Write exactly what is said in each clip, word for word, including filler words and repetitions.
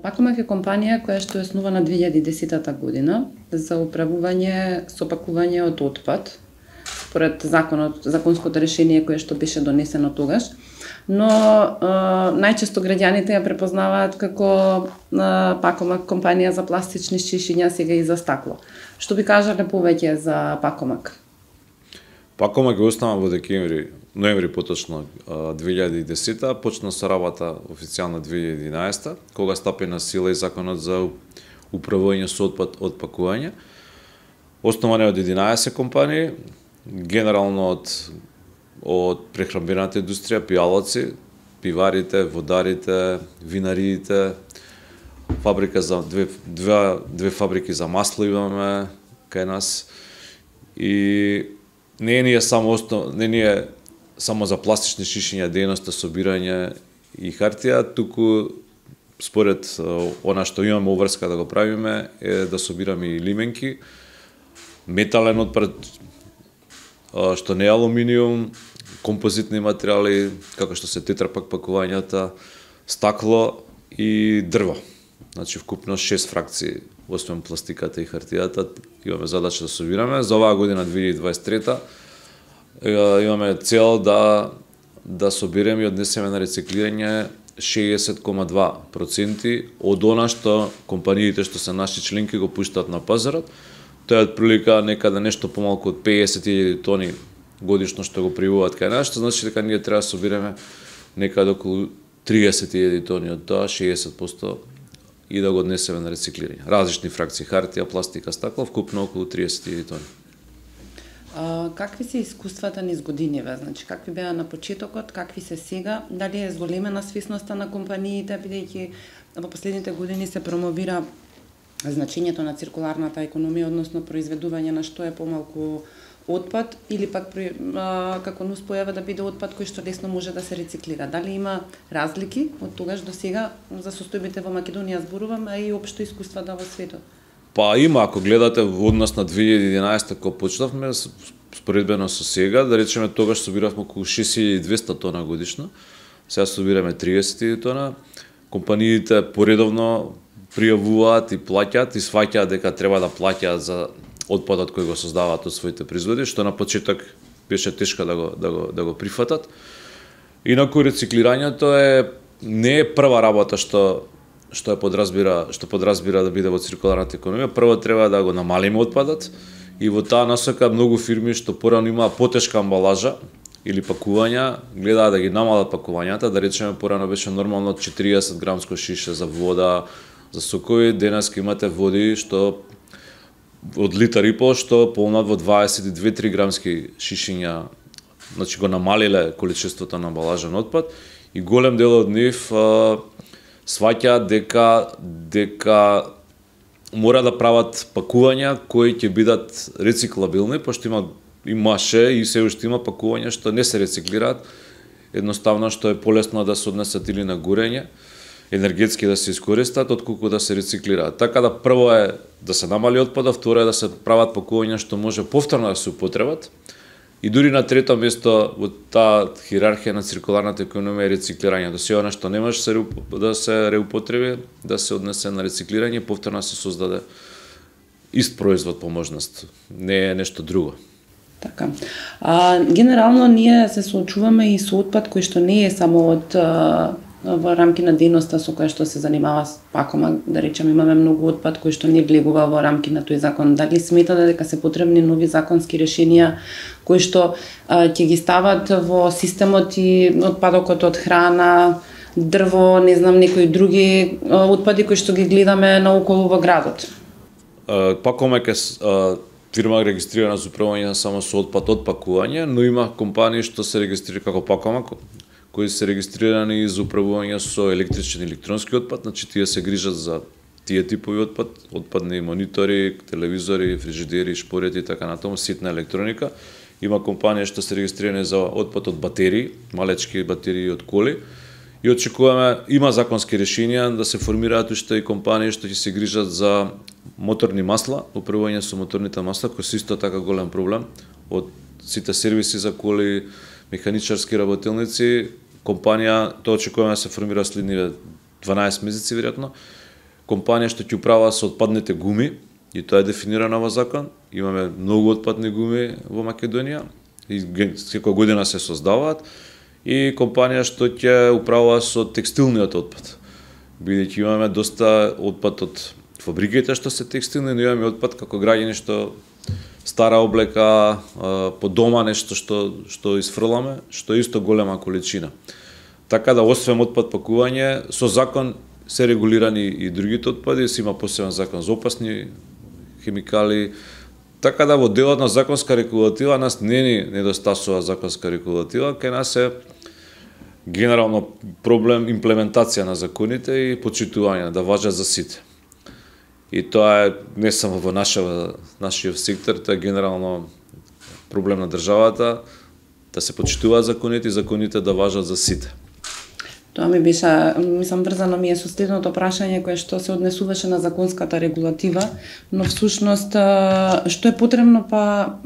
Пакомак е компанија која што е основана две илјади и десета година за управување со пакување од отпад, според законот, законското решение кое што беше донесено тогаш. Но е, најчесто граѓаните ја препознаваат како е, Пакомак компанија за пластични шишиња, сега и за стакло. Што би кажале повеќе за Пакомак? Пакомак е основан во декември, ноември поточно две илјади и десета, почна со работа официјално две илјади и единаесета, кога стапи на сила и законот за управување со отпад од пакување. Основан е од единаесет компании, генерално од од прехранбената индустрија, пијалаци, пиварите, водарите, винариите, фабрика за две две две фабрики за масло имаме кај нас. И не е само основ, не е само за пластични шишиња дејноста собирање и хартија, туку според она што имаме обврска да го правиме е да собираме и лименки, метален отпад што не е алуминиум, композитни материјали како што се тетрапак пакувањата, стакло и дрво. Значи вкупно шест фракции, освен пластиката и хартијата, имаме задача да собираме. За оваа година две илјади и дваесет и трета имаме цел да да собереме и однесеме на рециклирање шеесет кома два проценти од она што компаниите што се наши членки го пуштаат на пазарот. Тоа е отприлика некаде нешто помалку од пеесет илјади тони годишно што го привуваат кај нас, што значи дека ние треба да собереме некаде околу триесет илјади тони од тоа, шеесет проценти и да го однесеме на рециклирање. Различни фракции хартија, пластика, стакло, вкупно околу триесет илјади тони. А, какви се искуствата низ годиниве? Значи, какви беа на почетокот, какви се сега? Дали е зголемена свесноста на компаниите, бидејќи во последните години се промовира значењето на циркуларната економија, односно произведување на што е помалку отпад, или пак а, како нуспојава да биде отпад кој што лесно може да се рециклира. Дали има разлики од тогаш до сега за состојбите во Македонија зборувам, а и општо искуствата во светот? Па има, ако гледате во однос на две илјади и единаесета кога почнавме, споредбено со сега, да речеме тогаш собиравме околу шест илјади и двесте тона годишно, сега собираме триесет илјади тона. Компаниите поредовно пријавуваат и плаќаат и сваќаат дека треба да плаќаат за отпадот кој го создаваат од своите производи, што на почеток беше тешко да го да го да го прифатат. Инаку рециклирањето е не е прва работа што што е подразбира, што подразбира да биде во циркуларната економија. Прво треба да го намалиме отпадот и во таа насока многу фирми што порано имаа потешка амбалажа или пакувања, гледаат да ги намалат пакувањата, да речеме порано беше нормално четириесет грамско шише за вода, за сокови, денеска имате води што од литар и пол што полнат во дваесет и две до три грамски шишиња, значи го намалиле количеството на амбалажен отпад и голем дел од нив а, сваќаат дека дека мора да прават пакувања кои ќе бидат рециклабилни, пошто има имаше и се уште има пакувања што не се рециклираат, едноставно што е полесно да се однесат или на горење, енергетски да се искористат, отколку да се рециклираат. Така да прво е да се намали отпадот, второ е да се прават пакувања што може повторно да се употребат. И дури на трето место во таа хиерархија на циркуларната економија е рециклирање. До сеја што не може да се реупотреби, да се однесе на рециклирање, повторно се создаде ист производ по можност. Не е нешто друго. Така. А, генерално ние се соочуваме и со отпад кој што не е само од а, во рамки на дејноста со која што се занимава Пакомак, да речеме имаме многу отпад кој што не влегува во рамки на тој закон. Дали сметате дека се потребни нови законски решенија кои што а, ќе ги стават во системот и отпадокот од храна, дрво, не знам, некои други а, отпади кои што ги гледаме наоколу во градот? Пакомак е фирма регистрирана за управување само со отпад од пакување, но има компании што се регистрирани како Пакомак, кои се регистрирани за управување со електричен и електронски отпад, значи тие се грижат за тие типови отпад, отпадни монитори, телевизори, фрижидери, шпорети и така натаму, ситна електроника. Има компании што се регистрирани за отпад од батерии, малечки батерии од коли. И очекуваме, има законски решенија да се формираат уште и компании што ќе се грижат за моторни масла, управување со моторните масла, кои се исто така голем проблем од сите сервиси за коли, механичарски работилници. Компанија, тоа очекуваме да се формира следниве дванаесет месеци веројатно, компанија што ќе управува со отпадните гуми, и тоа е дефинирано во закон. Имаме многу отпадни гуми во Македонија и секоја година се создаваат, и компанија што ќе управува со текстилниот отпад. Бидејќи имаме доста отпад од фабриките што се текстилни, но имаме отпад како граѓани што стара облека, по дома нешто што што исфрламе, што е исто голема количина. Така да освен отпад пакување, со закон се регулирани и другите отпади, се има посебен закон за опасни химикали. Така да во делот на законска регулатива нас не ни недостасува законска регулатива, кај нас е генерално проблем имплементација на законите и почитување да важат за сите. И тоа е не само во нашава, нашиот сектор, тоа е генерално проблем на државата, да се почитуваат законите и законите да важат за сите. Тоа ми беше, мислам, врзано ми е со следното прашање кое што се однесуваше на законската регулатива, но всушност што е потребно па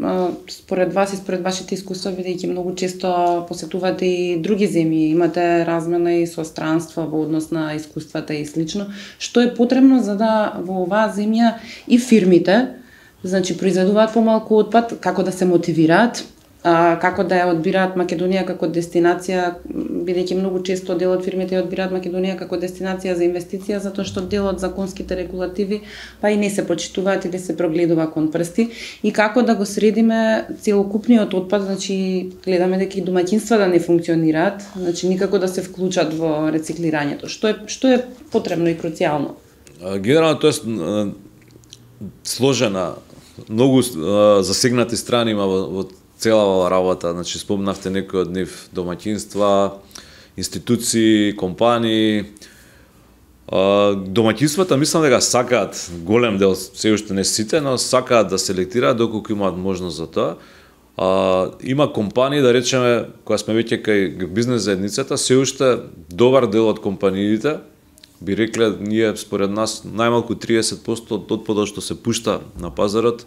според вас и според вашите искуства, бидејќи многу често посетувате и други земји, имате размена и со странства во однос на искуствата и слично, што е потребно за да во оваа земја и фирмите, значи произведуваат помалку отпад, како да се мотивираат, А, како да ја одбираат Македонија како дестинација, бидејќи многу често дел од фирмите ја одбираат Македонија како дестинација за инвестиција, затоа што дел од законските регулативи па и не се почитуваат или се прогледува кон прсти, и како да го средиме целокупниот отпад, значи гледаме дека и домаќинства да не функционираат, значи никако да се вклучат во рециклирањето. Што е што е потребно и круцијално? Генерално тоа е сложена, многу засегнати страни има во, во целава работа, значи спомнавте некои од нив, домаќинства, институции, компании. Домаќинствата мислам дека сакаат, голем дел, се уште не сите, но сакаат да селектираат доколку имаат можност за тоа. А, има компании, да речеме, кога сме веќе кај бизнес заедницата, се уште добар дел од компаниите би рекле, ние според нас најмалку триесет проценти од отпадот што се пушта на пазарот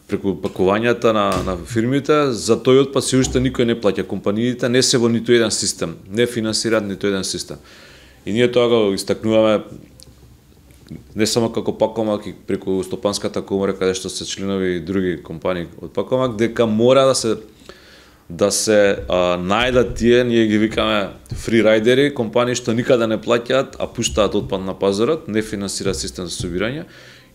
преку пакувањата на, на фирмите, за тој отпад се уште никој не плаќа. Компаниите не се во ниту еден систем, не финансираат ниту еден систем. И ние тоа го истакнуваме не само како Пакомак и преку Стопанската комора, каде што се членови и други компании од Пакомак, дека мора да се да се а, најдат тие, ние ги викаме фрирайдери, компании што никаде не плаќаат, а пуштаат отпад на пазарот, не финансираат систем за собирање.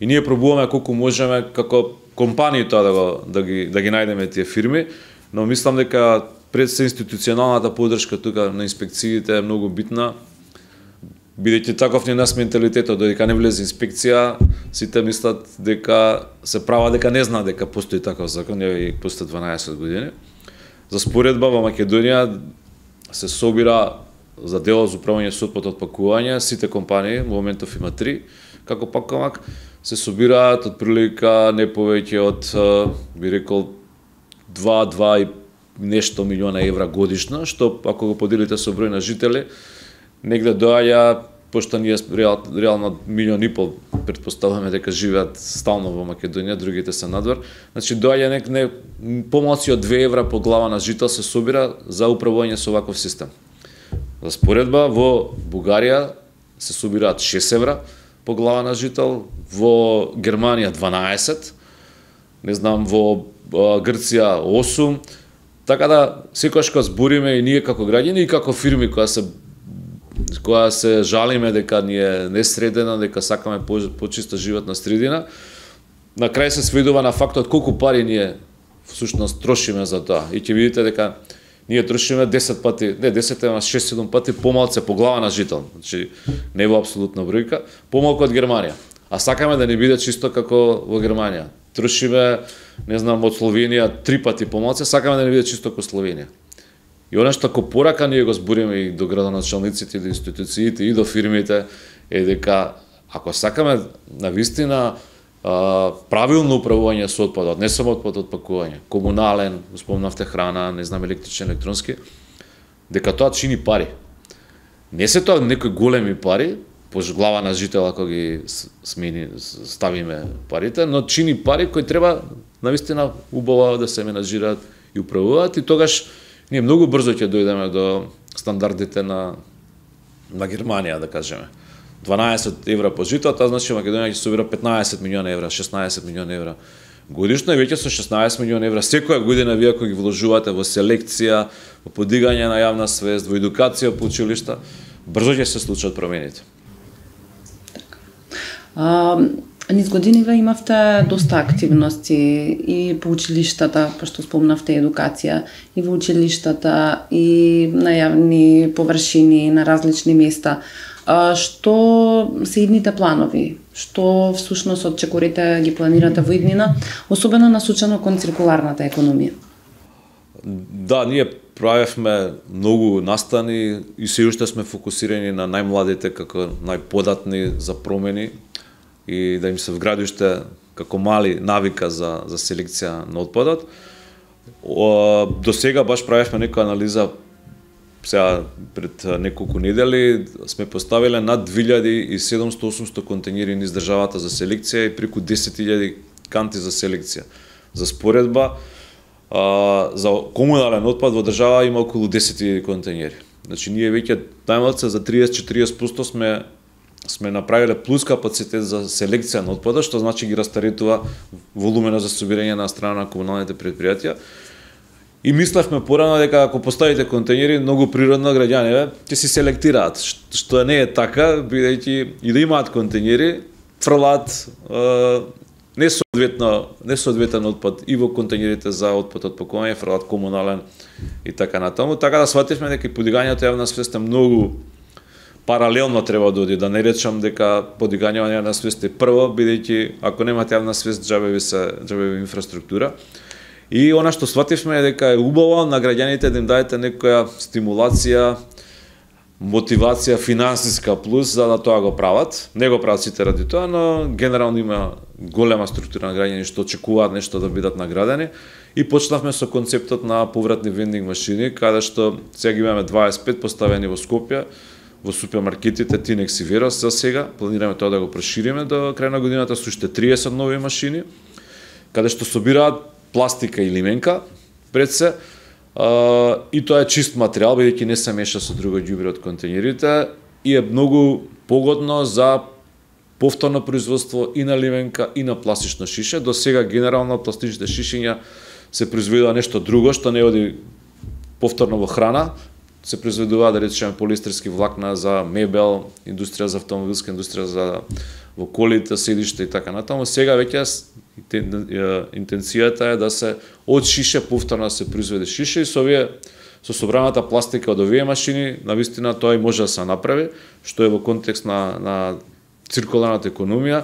И ние пробуваме колку можеме како компании тоа да го да ги да ги најдеме тие фирми, но мислам дека пред се институционалната поддршка тука на инспекциите е многу битна. Бидејќи таков не нас менталитетот, додека не влезе инспекција, сите мислат дека се права дека не знаат дека постои таков закон, и после дванаесет години. За споредба во Македонија се собира за дело за управување со отпад од пакување, сите компании, во моментов има три, како Пакомак, се собираат од прилика не повеќе од, би рекол, два и нешто милиона евра годишно, што ако го поделите со број на жители, негде доаѓа, пошто ние реал, реално милион и пол претпоставуваме дека живеат стално во Македонија, другите се надвор. Значи доаѓа нек не помалку од две евра по глава на жител се собира за управување со ваков систем. За споредба, во Бугарија се собираат шест евра по глава на жител, во Германија дванаесет, не знам, во Грција осум, така да секогаш кога збориме и ние како граѓани и како фирми која се која се жалиме дека ни е несредена, дека сакаме почиста животна средина, на крај се сведува на фактот колку пари ние всушност трошиме за тоа. И ќе видите дека ние трошиме десет пати, не десет, ама шест-седум пати помалце по глава на жител. Значи не во апсолутна бројка, помалку од Германија. А сакаме да не биде чисто како во Германија. Трошиме, не знам, од Словенија три пати помалце, сакаме да не биде чисто како Словенија. И она што како порака ние го збориме и до градоначалниците, и до институциите, и до фирмите, е дека ако сакаме навистина правилно управување со отпадот, не само отпад од пакување, комунален, спомнавте храна, не знам, електричен, електронски, дека тоа чини пари. Не се тоа некои големи пари, по глава на жител ако ги смени, ставиме парите, но чини пари кои треба навистина убаво да се менаџираат и управуваат, и тогаш ние многу брзо ќе дојдеме до стандардите на на Германија, да кажеме. дванаесет евра по жито, тоа значи Македонија ќе собира петнаесет милиони евра, шеснаесет милиони евра годишно, и веќе со шеснаесет милиони евра секоја година вие ако ги вложувате во селекција, во подигање на јавна свест, во едукација по училишта, брзо ќе се случат промените. А, низ годиниве имавте доста активности и по училиштата, пошто спомнавте едукација, и во училиштата, и на јавни површини, на различни места. А, што се идните планови? Што всушност од чекорите ги планирате во иднина, особено насочено кон циркуларната економија? Да, ние правевме многу настани и се уште сме фокусирани на најмладите како најподатни за промени и да им се вгради уште како мали навика за, за селекција на отпадот. До сега баш правевме некоја анализа, сега пред неколку недели сме поставиле над две илјади и седумстотини до осумстотини контејнери низ државата за селекција и преку десет илјади канти за селекција. За споредба, за комунален отпад во држава има околу десет илјади контејнери. Значи ние веќе најмалку за триесет до четириесет проценти сме сме направиле плюс капацитет за селекција на отпадот, што значи ги растаретува волумена за собирање на страна на комуналните предпријатија. И мислевме порано дека ако поставите контејнери, многу природно граѓаните ќе си селектираат, што не е така, бидејќи и да имаат контејнери, фрлаат несоодветно несоодветен отпад и во контејнерите за отпад од пакување, фрлаат комунален и така натаму. Така да свативме дека подигањето јавна свест е многу паралелно треба да оди, да не речам дека подигањето на свест е прво, бидејќи ако немате јавна свест, џабе ви се џабе ви инфраструктура. И она што свативме е дека е убаво на граѓаните да им дадете некоја стимулација, мотивација финансиска плюс за да тоа го прават. Не го прават сите ради тоа, но генерално има голема структура на граѓани што очекуваат нешто да бидат наградени. И почнавме со концептот на повратни вендинг машини, каде што сега имаме дваесет и пет поставени во Скопје, во супермаркетите Тинекс и Верос. За сега планираме тоа да го прошириме до крај на годината со уште триесет нови машини, каде што собираат пластика и лименка пред се, а, и тоа е чист материјал, бидејќи не се меша со друго ѓубре од контејнерите и е многу погодно за повторно производство и на лименка и на пластично шише. До сега генерално пластичните шишиња се произведува нешто друго што не оди повторно во храна, се произведува, да речеме, полиестерски влакна за мебел, индустрија за автомобилска индустрија за во колите, седишта и така натаму. Сега веќе интенцијата е да се од шише повторно се произведе шише и со овие со собраната пластика од овие машини навистина тоа и може да се направи, што е во контекст на на циркуларната економија.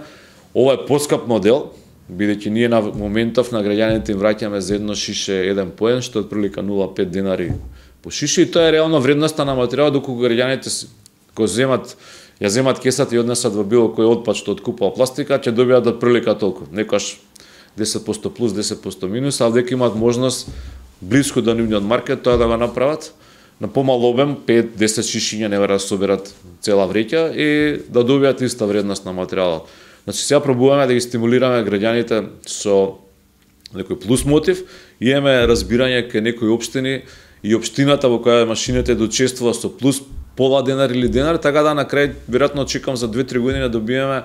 Ова е поскап модел, бидејќи ние на моментов на граѓаните им враќаме за едно шише еден поен, што е отприлика нула целу пет денари по шише, и тоа е реално вредноста на материјалот, доколку граѓаните кои земат ја земат кесата и однесат во било кој отпад што откупува пластика, ќе добијат отприлика толку. Некојаш десет проценти плюс, десет проценти минус, а дека имаат можност блиску до нивниот маркет тоа да го направат на помал обем, пет до десет шишиња не да соберат цела вреќа и да добијат иста вредност на материјалот. Значи сега пробуваме да ги стимулираме граѓаните со некој плюс мотив, и имаме разбирање кај некои општини и општината во која машините дочествува со плюс пола денар или денар, така да на крај веројатно очекувам за две-три години да добиеме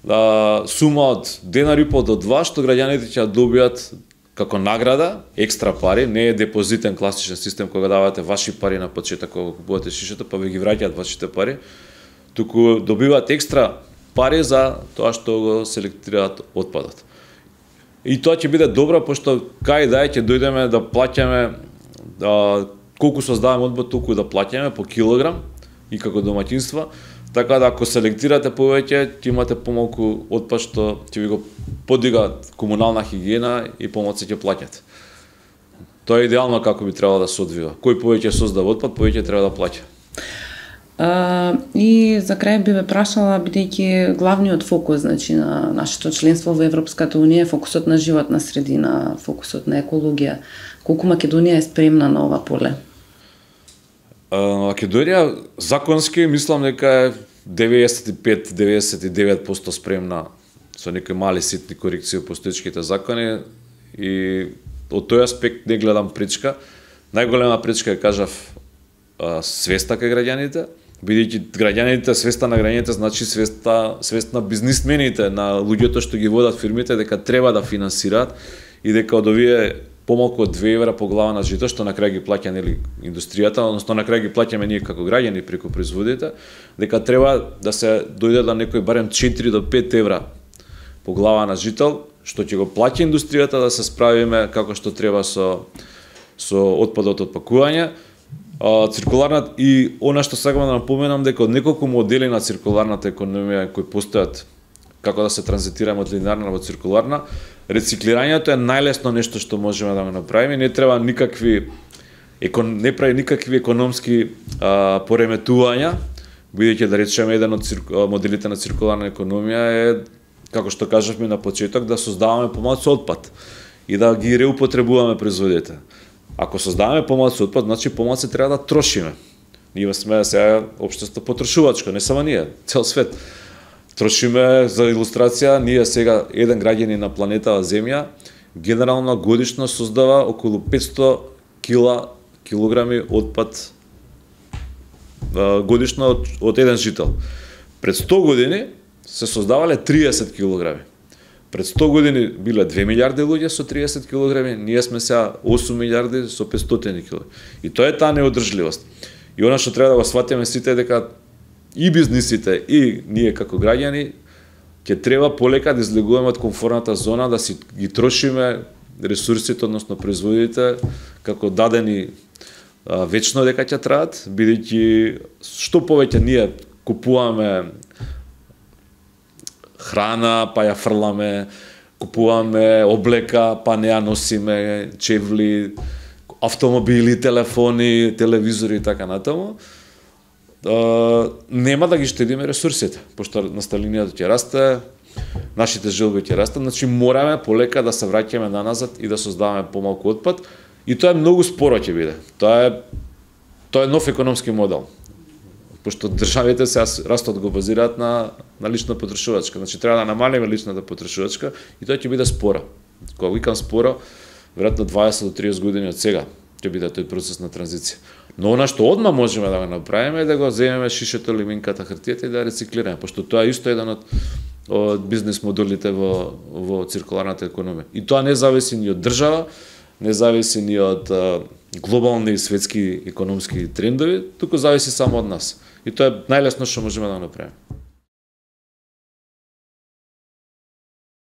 да, сума од денар и пол до два, што граѓаните ќе добијат како награда, екстра пари, не е депозитен класичен систем кога давате ваши пари на почеток кога купувате шишето, па ви ги враќаат вашите пари, туку добиваат екстра пари за тоа што го селектираат отпадот. И тоа ќе биде добро, пошто кај да ќе дојдеме да плаќаме, да, колку создаваме отпад, толку да плаќаме по килограм и како домаќинства, така да ако селектирате повеќе, ќе имате помалку отпад што ќе ви го подига комунална хигиена и помалку ќе плаќате. Тоа е идеално како би требало да се одвива. Кој повеќе создава отпад, повеќе треба да плаќа. Uh, и за крај би ве прашала, бидејќи главниот фокус, значи, на нашето членство во Европската унија е фокусот на животна средина, фокусот на екологија. Колку Македонија е спремна на ова поле? Uh, Македонија законски мислам дека е деветдесет и пет до деветдесет и девет проценти спремна, со некои мали ситни корекции во постоечките закони, и од тој аспект не гледам пречка. Најголема пречка е, кажав, свеста кај граѓаните, бидејќи граѓаните, свеста на граѓаните значи свеста, свест на бизнисмените, на луѓето што ги водат фирмите, дека треба да финансираат и дека од овие помалку од две евра по глава на жито, што на крај ги плаќа нели индустријата, односно на крај ги плаќаме ние како граѓани преку производите, дека треба да се дојде до некој барем четири до пет евра по глава на жител, што ќе го плаќа индустријата да се справиме како што треба со со отпадот од пакување. А, циркуларна и она што сакам да напоменам дека од неколку модели на циркуларната економија кои постојат како да се транзитираме од линеарна во циркуларна, рециклирањето е најлесно нешто што можеме да го направиме, не треба никакви екон, не прави никакви економски а, пореметувања, бидејќи да речеме еден од цирк, моделите на циркуларна економија е, како што кажавме на почеток, да создаваме помалку отпад и да ги реупотребуваме производите. Ако создаваме помалку отпад, значи помалку треба да трошиме. Ние сме сега општество потрошувачко, не само ние, цел свет. Трошиме, за илустрација, ние сега еден граѓанин на планетава Земја генерално годишно создава околу петсто кила, килограми отпад годишно од, од еден жител. Пред сто години се создавале триесет килограми. Пред сто години биле две милиарди луѓе со триесет килограми, ние сме сега осум милиарди со петстотини килограми. И тоа е таа неодржливост. И она што треба да го сватиме сите е дека и бизнисите, и ние како граѓани ќе треба полека да излегуваме од комфортната зона, да си ги трошиме ресурсите, односно производите, како дадени а, вечно дека ќе траат, бидејќи што повеќе ние купуваме храна, па ја фрламе, купуваме облека, па не ја носиме, чевли, автомобили, телефони, телевизори и така натаму, Uh, нема да ги штедиме ресурсите, пошто населението ќе расте, нашите желби ќе растат, значи мораме полека да се враќаме наназад и да создаваме помалку отпад, и тоа е многу споро ќе биде. Тоа е тоа е нов економски модел. Пошто државите се растот го базираат на на лична потрошувачка, значи треба да намалиме личната потрошувачка и тоа ќе биде споро. Кога викам споро, веројатно дваесет до триесет години од сега ќе биде тој процес на транзиција. Но она што одма можеме да го направиме е да го земеме шишето, лиминката, хартијата и да рециклираме, пошто тоа е исто еден од, од бизнес моделите во, во циркуларната економија. И тоа не зависи ни од држава, не зависи ни од а, глобални и светски економски трендови, туку зависи само од нас. И тоа е најлесно што можеме да го направиме.